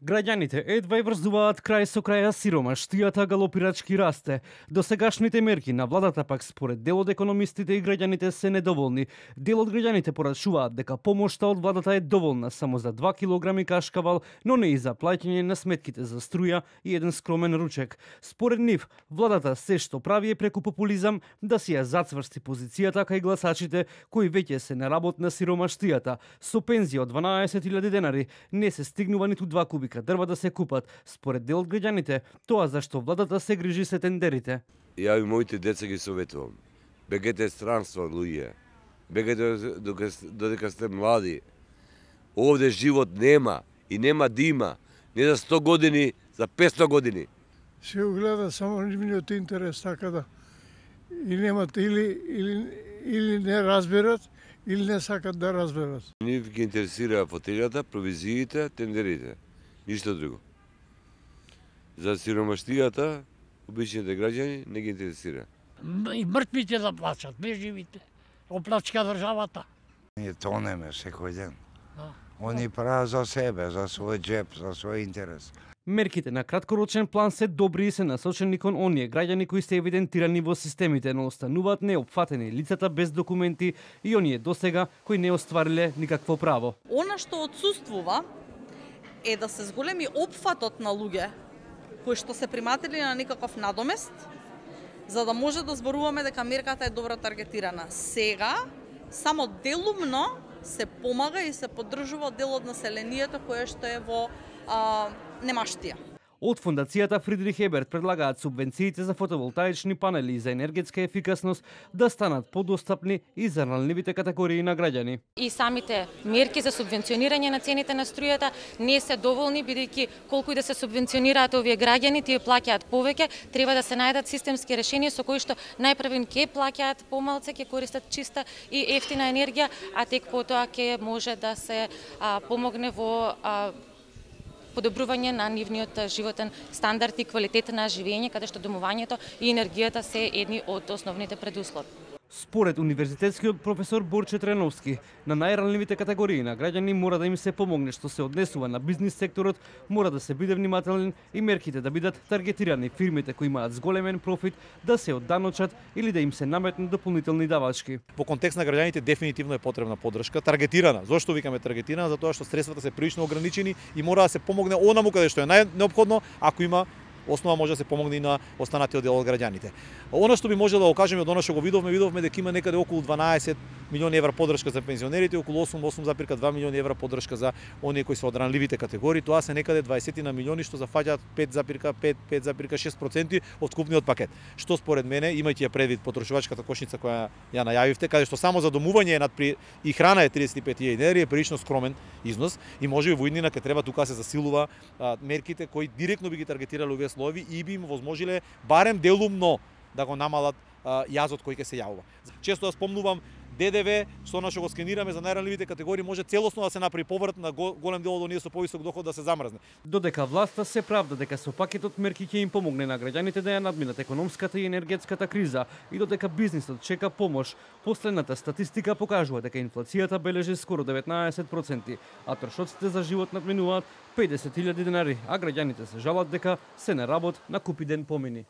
Граѓаните едва и врзуваат крај со краја сиромаштијата галопирачки расте. Досегашните мерки на владата пак според дел од економистите и граѓаните се недоволни. Дел од граѓаните порачуваат дека помошта од владата е доволна само за 2 килограми кашкавал, но не и за плаќање на сметките за струја и еден скромен ручек. Според нив, владата се што прави е преку популизам да си ја зацврсти позицијата кај гласачите кои веќе се на работ на сиромаштијата. Со пензија од 12.000 денари не се стигнува ниту 2 кубика дрва да се купат. Според дел од граѓаните, тоа зашто владата се грижи се тендерите. Ја и моите деца ги советувам. Бегете странство, луѓе. Бегете додека сте млади. Овде живот нема и нема да има. Не за 100 години, за 500 години. Се гледа само нивниот интерес, така да и немат или не разберат, или не сакат да разберат. Нив ги интересира фотелјата, провизиите, тендерите. Ништо друго. За сиромаштијата, обичните граѓани не ги интересира. И мртвите да плачат, не живите. Оплачка државата. Ние тонеме секој ден. Они прават за себе, за свој джеп, за свој интерес. Мерките на краткорочен план се добри и се насочени кон оние граѓани кои се евидентирани во системите, но остануваат неопфатени лицата без документи и оние досега кои не оствариле никакво право. Она што отсуствува е да се зголеми опфатот на луѓе кои што се приматели на некаков надомест, за да може да зборуваме дека мерката е добро таргетирана. Сега, само делумно се помага и се поддржува дел од населението кое што е во немаштија. Од фондацијата Фридрих Еберт предлагаат субвенциите за фотоволтаични панели и за енергетска ефикасност да станат подостапни и за ранливите категории на граѓани. И самите мерки за субвенционирање на цените на струјата не се доволни, бидејќи колку и да се субвенционираат овие граѓани, тие плаќаат повеќе, треба да се најдат системски решенија со кои што најпрвен ќе плаќаат помалце, ќе користат чиста и ефтина енергија, а тек потоа ќе може да се помогне во подобрување на нивниот животен стандард и квалитет на живење, каде што домувањето и енергијата се едни од основните предуслови. Според универзитетскиот професор Борче Треновски, на најранливите категории на граѓани мора да им се помогне што се однесува на бизнис секторот, мора да се биде внимателен и мерките да бидат таргетирани, фирмите кои имаат зголемен профит да се одданочат или да им се наметнат дополнителни давачки. Во контекст на граѓаните дефинитивно е потребна поддршка, таргетирана. Зошто викаме таргетирана? Затоа што средствата се прилично ограничени и мора да се помогне онаму каде што е најнеопходно, ако има основа може да се помогне и на останатиот дел од граѓаните. Она што би можело да го кажеме од она што го видовме дека има некаде околу 12 милиони евра поддршка за пензионерите, околу 8,2 милиони евра поддршка за оние кои се од ранливите категории. Тоа се некаде 20 на милиони што зафаќаат 5,6% од вкупниот пакет. Што според мене, имајќи ја предвид потрошувачката кошница која ја најавивте, каде што само за домување и храна е 35.000 денари, е прилично скромен износ и можеби во иднина ќе треба тука се засилува мерките кои директно би ги таргетирале овие слоеви и би им возможиле барем делумно да го намалат јазот кој ќе се јавува. Често да спомнувам ДДВ, што што го скенираме за најранливите категории, може целосно да се направи поврат на голем дел од оние со повисок доход да се замрзне. Додека власта се правда дека со пакетот мерки ќе им помогне на граѓаните да ја надминат економската и енергетската криза и додека бизнисот чека помош, последната статистика покажува дека инфлацијата бележи скоро 19%, а трошоците за живот надминуваат 50.000 денари, а граѓаните се жалат дека се на работ на купи ден помини.